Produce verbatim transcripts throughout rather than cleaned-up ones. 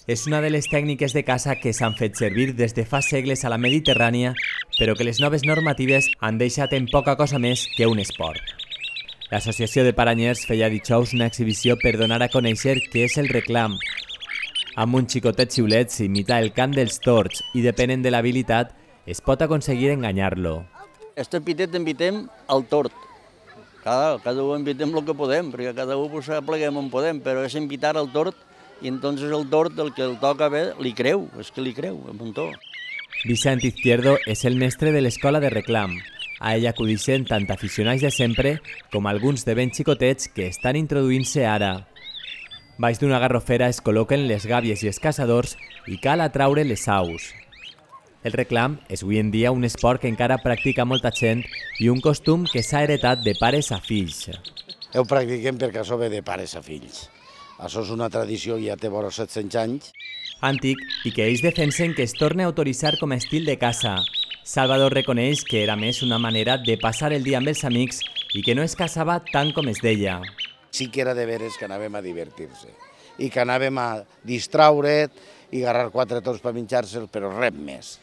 és una de les tècniques de caça que s'han fet servir des de fa segles a la Mediterrània, però que les noves normatives han deixat en poca cosa més que un esport. L'Associació de Paranyers feia dijous una exhibició per donar a conèixer què és el reclam. Amb un xicotet xiulet s'imita el cant dels tords i, depenent de l'habilitat, es pot aconseguir enganyar-lo. Este pitet invitem al tord. Cada, cada un invitem el que podem, perquè cada un pues, pleguem on podem, però és invitar al tord i entonces el tord, el que el toca bé, li creu, és que li creu, un muntó. Vicent Izquierdo és el mestre de l'escola de reclam. A ell acudixen tant aficionats de sempre com alguns de ben xicotets que estan introduint-se ara. Baix d'una garrofera es col·loquen les gàbies i els caçadors i cal atraure les aus. El reclam és avui en dia un esport que encara practica molta gent i un costum que s'ha heretat de pares a fills. Ho practiquem perquè això ve de pares a fills. Això és una tradició, ja té vora set-cents anys. Antic i que ells defensen que es torna a autoritzar com a estil de caça. Salvador reconeix que era més una manera de passar el dia amb els amics i que no es caçava tant com es deia. Sí que era de veres que anàvem a divertir-se i que anàvem a distraure't i agarrar quatre tors per menjar-se'l, però res més.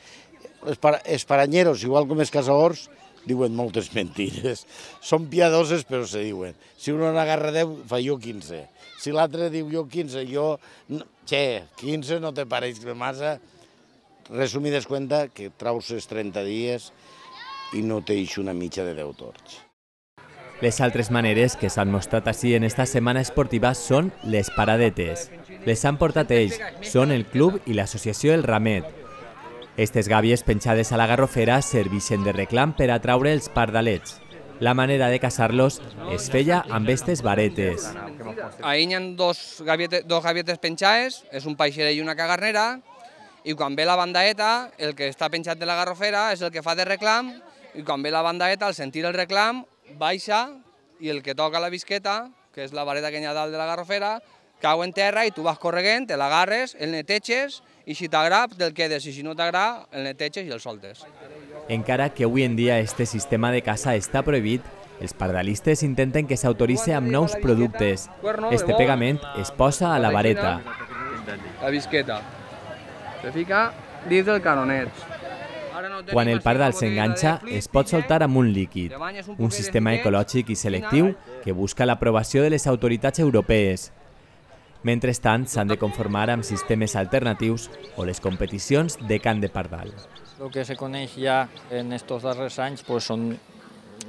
Els paranyeros, igual com els caçadors, diuen moltes mentires. Són piadoses, però se diuen. Si un n'agarra deu, fa jo quinze. Si l'altre diu jo quinze, jo... Che, quinze no te pareix massa. Resumides cuenta que traus els trenta dies i no t'eix una mitja de deu tords. Les altres maneres que s'han mostrat així en esta setmana esportiva són les paradetes. Les han portat ells, són el club i l'associació El Ramet. Estes gàbies penjades a la garrofera servixen de reclam per atraure els pardalets. La manera de caçar-los es feia amb estes varetes. Ahí hi ha dos gavietes, dos gavietes penjades, és un paixerell i una cagarnera, i quan ve la bandaeta, el que està penjat de la garrofera és el que fa de reclam, i quan ve la bandaeta, al sentir el reclam, baixa i el que toca la bisqueta, que és la vareta que hi ha dalt de la garrofera, cau en terra i tu vas corregent, te l'agarres, el neteges i si t'agrada te'l quedes i si no t'agrada el neteges i el soltes. Encara que avui en dia este sistema de caça està prohibit, els pardalistes intenten que s'autoritzi amb nous productes. Este pegament es posa a la vareta. La bisqueta. Se fica dins del canonet. Quan el pardal s'enganxa, es pot soltar amb un líquid, un sistema ecològic i selectiu que busca l'aprovació de les autoritats europees. Mentrestant, s'han de conformar amb sistemes alternatius o les competicions de cant de pardal. El que se coneix ja en aquests darrers anys pues, són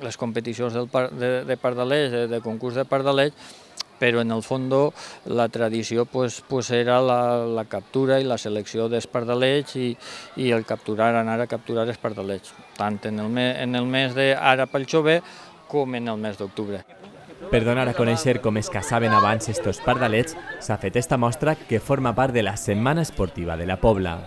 les competicions del par de, de pardalers, de, de concurs de pardalers, però en el fons la tradició pues, pues era la, la captura i la selecció dels pardalets i, i el capturar, anar a capturar els pardalets, tant en el, me, en el mes d'ara pel jove com en el mes d'octubre. Per donar a conèixer com es caçaven abans estos pardalets, s'ha fet esta mostra que forma part de la Setmana Esportiva de la Pobla.